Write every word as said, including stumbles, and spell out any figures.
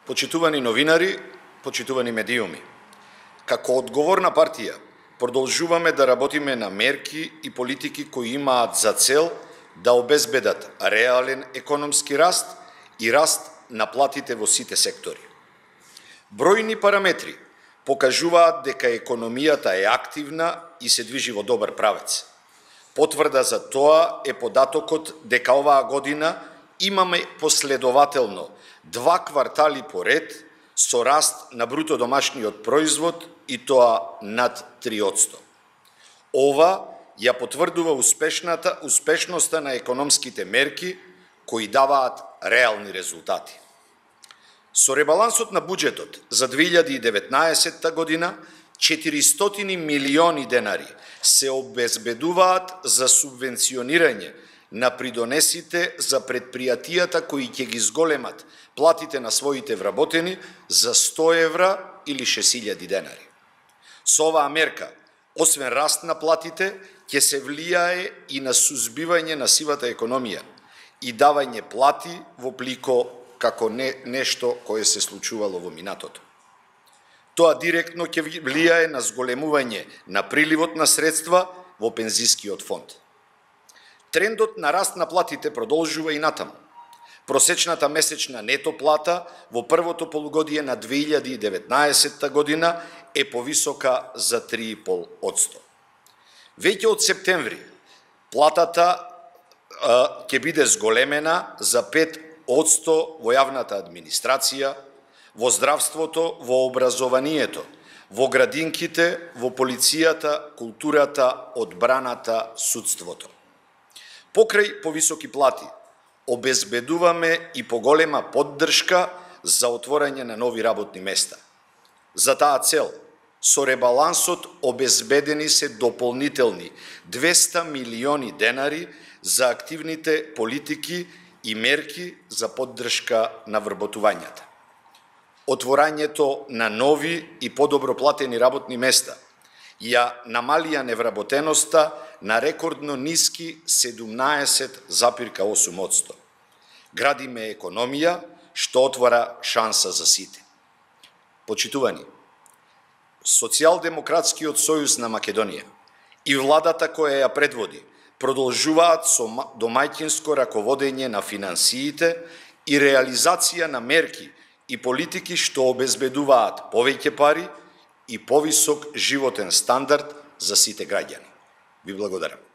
Почитувани новинари, почитувани медиуми, како одговорна партија продолжуваме да работиме на мерки и политики кои имаат за цел да обезбедат реален економски раст и раст на платите во сите сектори. Бројни параметри покажуваат дека економијата е активна и се движи во добар правец. Потврда за тоа е податокот дека оваа година имаме последователно два квартали поред со раст на бруто домашниот производ и тоа над три одсто. Ова ја потврдува успешната успешноста на економските мерки кои даваат реални резултати. Со ребалансот на буџетот за две илјади и деветнаесетта година четиристотини милиони денари се обезбедуваат за субвенционирање на придонесите за предпријатијата кои ќе ги зголемат платите на своите вработени за сто евра или шест илјади денари. Со оваа мерка, освен раст на платите, ќе се влијае и на сузбивање на сивата економија и давање плати во плико како не, нешто кое се случувало во минатото. Тоа директно ќе влијае на зголемување на приливот на средства во пензискиот фонд. Трендот на раст на платите продолжува и натаму. Просечната месечна нето плата во првото полугодие на две илјади и деветнаесетта година е повисока за три и пол одсто. Веќе од септември платата а, ќе биде зголемена за пет одсто во јавната администрација, во здравството, во образованието, во градинките, во полицијата, културата, одбраната, судството. Покрај повисоки плати, обезбедуваме и поголема поддршка за отворање на нови работни места. За таа цел, со ребалансот обезбедени се дополнителни двеста милиони денари за активните политики и мерки за поддршка на вработувањата. Отворањето на нови и подобро платени работни места ја намалија невработеноста на рекордно ниски седумнаесет запирка осум одсто. Градиме економија што отвора шанса за сите. Почитувани, Социјалдемократскиот сојуз на Македонија и владата која ја предводи продолжуваат со домаќинско раководење на финансиите и реализација на мерки и политики што обезбедуваат повеќе пари и повисок животен стандард за сите граѓани. Ви благодарам.